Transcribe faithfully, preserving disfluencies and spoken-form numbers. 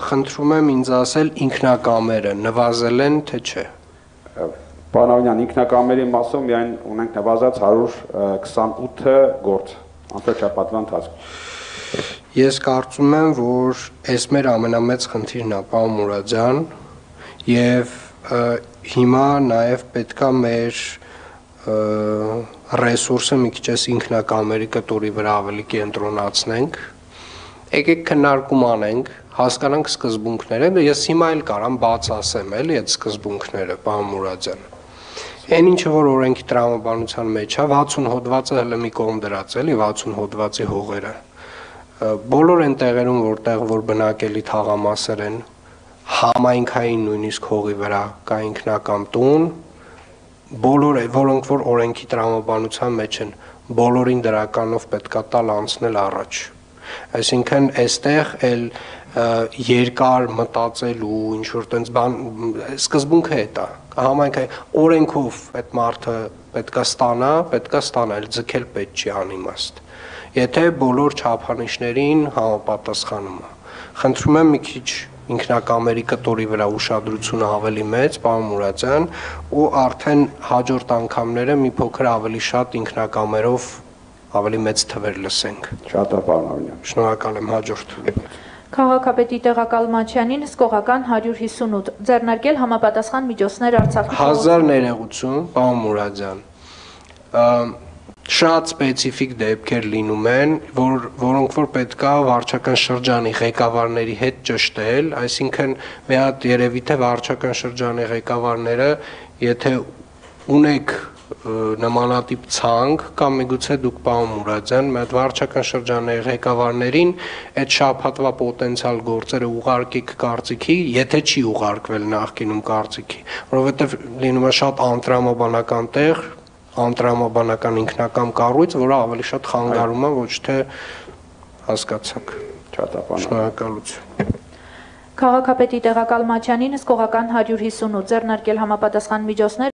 Խնդրում եմ ինձ ասել ինքնակամերը նվազել են, թե չէ։ Պարոն Ավանյան, ինքնակամերի մասով միայն ունենք նվազած հարյուր քսանութ գործ անվճարապատվան ընթացքում։ Ես կարծում եմ, որ այս մեր ամենամեծ խնդիրն է, պարոն Մուրադյան, եւ հիմա նաեւ պետքա մեր ռեսուրսը մի քիչ ինքնակամերի կտորի վրա ավելի կենտրոնացնենք։ Եկեք քննարկում անենք, հասկանանք սկզբունքները, ես հիմա էլ կարամ բաց ասեմ, էլի այդ սկզբունքները, պարոն Մուրադյան։ Այն ինչը որ օրենքի տրամաբանության մեջ է, վաթսուն հոդվածը հələ մի կողմ դրած էլի, վաթսուն հոդվածի հողերը։ Բոլոր այն տեղերում, որտեղ որ բնակելի թաղամասեր են, համայնքային նույնիսկ հողի վրա կա ինքնակամ տուն, բոլոր որոնք որ օրենքի տրամաբանության մեջ են, բոլորին դրականով պետքա տալ անցնել առաջ։ Այսինքն այստեղ էլ երկար մտածելու ինչ որ տենց բան սկզբունքը է դա համայնքային օրենքով այդ մարդը պետքա ստանա, պետքա ստանա, էլ ձգել պետք չի անիմաստ։ Եթե բոլոր չափանիշներին համապատասխանում է։ Խնդրում եմ մի քիչ ինքնակամերի կտորի վրա ուշադրությունը ավելի մեծ, պարոն Մուրադյան, ու արդեն հաջորդ անգամները մի փոքր ավելի շատ ինքնակամերով ավելի մեծ թվեր լսենք։ Շատ է, պարոն Ավանյան։ Շնորհակալ եմ, հաջորդ։ Քաղաքապետի տեղակալմաչյանին հսկողական հարյուր հիսունութ ձեռնարկել համապատասխան միջոցներ Արցախի հազար ներողություն, պարոն Մուրադյան։ Շատ սպეციფიկ դեպքեր լինում են, որ որոնք որ պետքա վարչական շրջանի ղեկավարների հետ ճշտել, այսինքն մի հատ երևի թե վարչական շրջանի ղեկավարները, եթե ունեք նմանատիպ ցանկ կամ միգուցե դուք պարոն Մուրադյան, մի հատ վարչական շրջանի ղեկավարներին այդ շաբաթվա պոտենցիալ գործերը ուղարկեք կարծիքի, եթե չի ուղարկվել նախկինում կարծիքի, որովհետև լինում է շատ անտրամաբանական տեղ, անտրամաբանական ինքնակամ կառույց, որը ավելի շատ խանգարում է, ոչ թե հասկացաք։ Շնորհակալություն։ Քաղաքապետի տեղակալմաչյանին հսկողական հարյուր հիսունութ ձեռնարկել համապատասխան միջոցներ